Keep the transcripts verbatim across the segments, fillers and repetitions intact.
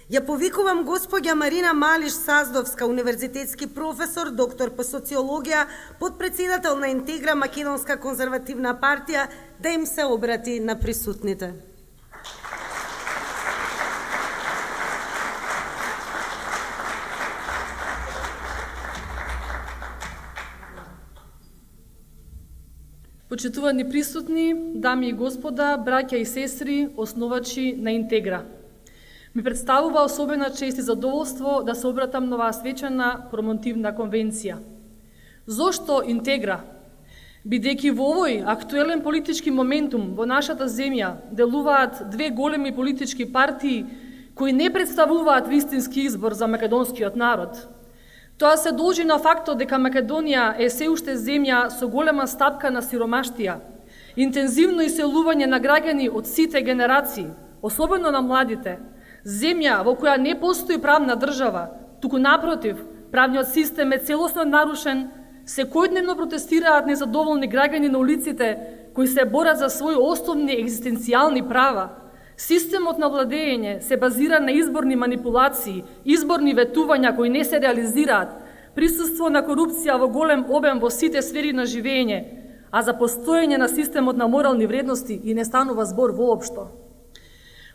Ја повикувам госпоѓа Марина Малиш-Саздовска, универзитетски професор, доктор по социологија, подпредседател на Интегра Македонска конзервативна партија, да им се обрати на присутните. Почитувани присутни, дами и господа, браќа и сестри, основачи на Интегра. Ми представува особена чест и задоволство да се обратам на оваа свечена промотивна конвенција. Зошто Интегра? Бидејќи во овој актуелен политички моментум во нашата земја делуваат две големи политички партии кои не представуваат вистински избор за македонскиот народ. Тоа се должи на фактот дека Македонија е се уште земја со голема стапка на сиромаштија, интензивно иселување на граѓани од сите генерации, особено на младите, земја во која не постои правна држава, туку напротив, правниот систем е целосно нарушен, секојдневно протестираат незадоволни граѓани на улиците кои се борат за своји основни екзистенцијални права. Системот на владење се базира на изборни манипулации, изборни ветувања кои не се реализираат, присуство на корупција во голем обем во сите сфери на живење, а за постоење на системот на морални вредности и не станува збор воопшто.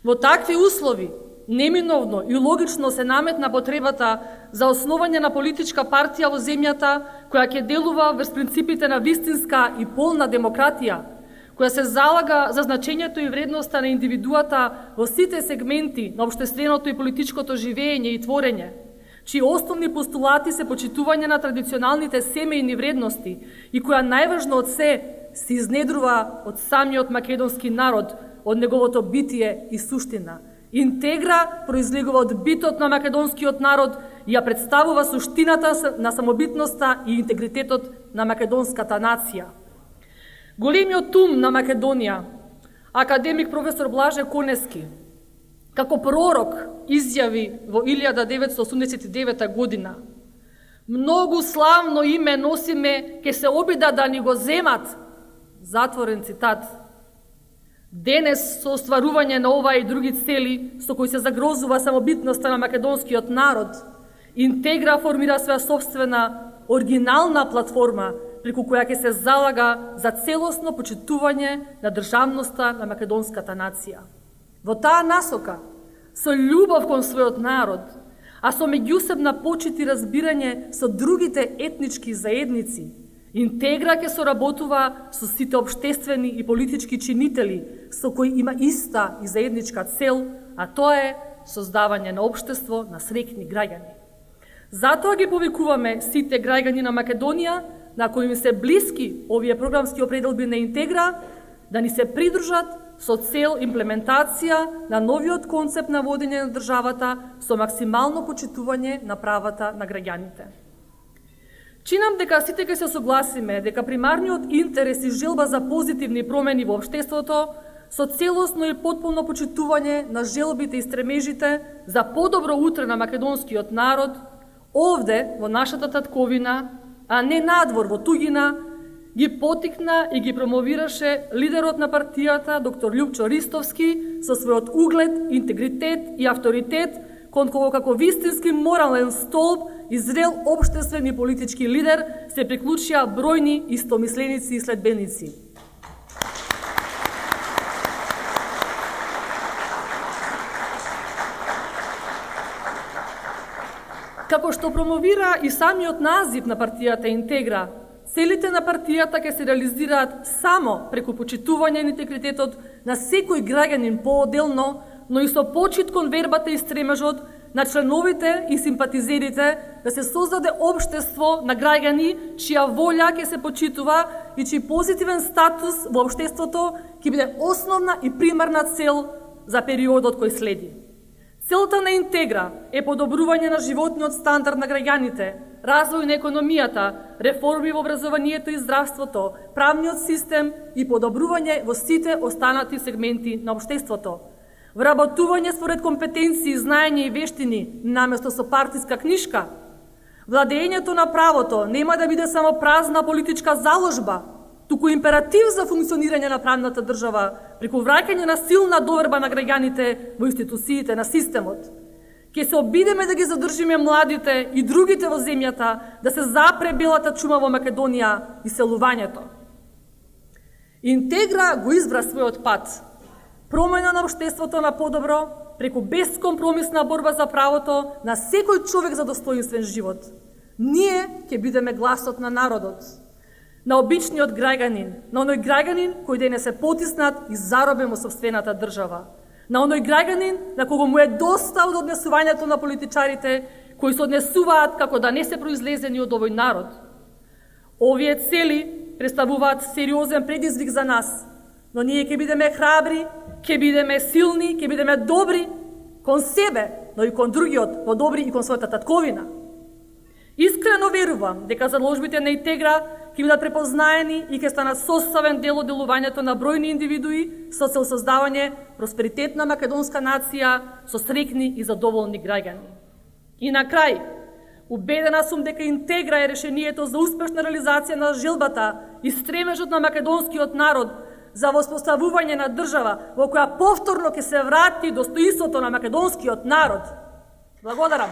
Во такви услови, неминовно и логично се наметна потребата за основање на политичка партија во земјата која ќе делува врз принципите на вистинска и полна демократија, која се залага за значењето и вредноста на индивидуата во сите сегменти на општественото и политичкото живење и творење, чии основни постулати се почитување на традиционалните семејни вредности и која најважно од се се изнедрува од самиот македонски народ, од неговото битие и суштина. Интегра произлегува од битот на македонскиот народ и ја представува суштината на самобитноста и интегритетот на македонската нација. Големиот ум на Македонија, академик професор Блаже Конески, како пророк изјави во илјада деветстотини осумдесет и девета година: многу славно име носиме, ке се обида да ни го земат. Затворен цитат. Денес, со остварување на ова и други цели, со кои се загрозува самобитноста на македонскиот народ, Интегра формира своја собствена, оригинална платформа, преку која ќе се залага за целосно почитување на државноста на македонската нација. Во таа насока, со љубов кон својот народ, а со меѓусебна почит и разбирање со другите етнички заедници, Интегра ќе соработува со сите општествени и политички чинители со кои има иста и заедничка цел, а тоа е создавање на општество на среќни граѓани. Затоа ги повикуваме сите граѓани на Македонија, на кои им се блиски овие програмски определби на Интегра, да ни се придружат со цел имплементација на новиот концепт на водење на државата со максимално почитување на правата на граѓаните. Чинам дека сите ќе се согласиме дека примарниот интерес и желба за позитивни промени во општеството со целосно и потполно почитување на желбите и стремежите за подобро утре на македонскиот народ, овде во нашата татковина, а не надвор во туѓина, ги потикна и ги промовираше лидерот на партијата доктор Љупчо Ристовски со својот углед, интегритет и авторитет, кон кого како вистински морален столб и зрел општествен и политички лидер се приклучија бројни истомисленици и следбеници. Како што промовира и самиот назив на партијата Интегра, целите на партијата ќе се реализираат само преку почитување на интегритетот на секој граѓанин поотделно, но и со почит кон вербата и стремежот на членовите и симпатизерите да се создаде општество на граѓани чија волја ќе се почитува и чиј позитивен статус во општеството ќе биде основна и примарна цел за периодот кој следи. Целта на Интегра е подобрување на животниот стандард на граѓаните, развој на економијата, реформи во образованието и здравството, правниот систем и подобрување во сите останати сегменти на општеството. Вработување според компетенции, знаење и вештини, наместо со партиска книшка. Владењето на правото нема да биде само празна политичка заложба, туку императив за функционирање на правната држава, преку враќање на силна доверба на граѓаните во институциите на системот. Ке се обидеме да ги задржиме младите и другите во земјата, да се запре белата чума во Македонија и селувањето. Интегра го избра својот пат. Промена на општеството на подобро, преку бескомпромисна борба за правото на секој човек за достоинствен живот. Ние ќе бидеме гласот на народот, на обичниот граѓанин, на оној граѓанин кој денес е потиснат и заробен во сопствената држава, на оној граѓанин на кого му е доста од однесувањето на политичарите кои се однесуваат како да не се произлезени од овој народ. Овие цели представуваат сериозен предизвик за нас, но ние ќе бидеме храбри, ќе бидеме силни, ќе бидеме добри кон себе, но и кон другиот, но добри и кон својата татковина. Искрено верувам дека заложбите на Интегра ќе бидат препознаени и ќе станат составен дел од делувањето на бројни индивидуи со цел создавање просперитетна македонска нација со среќни и задоволни граѓани. И на крај, убедена сум дека Интегра е решението за успешна реализација на желбата и стремежот на македонскиот народ за воспоставување на држава во која повторно ќе се врати достоинството на македонскиот народ. Благодарам.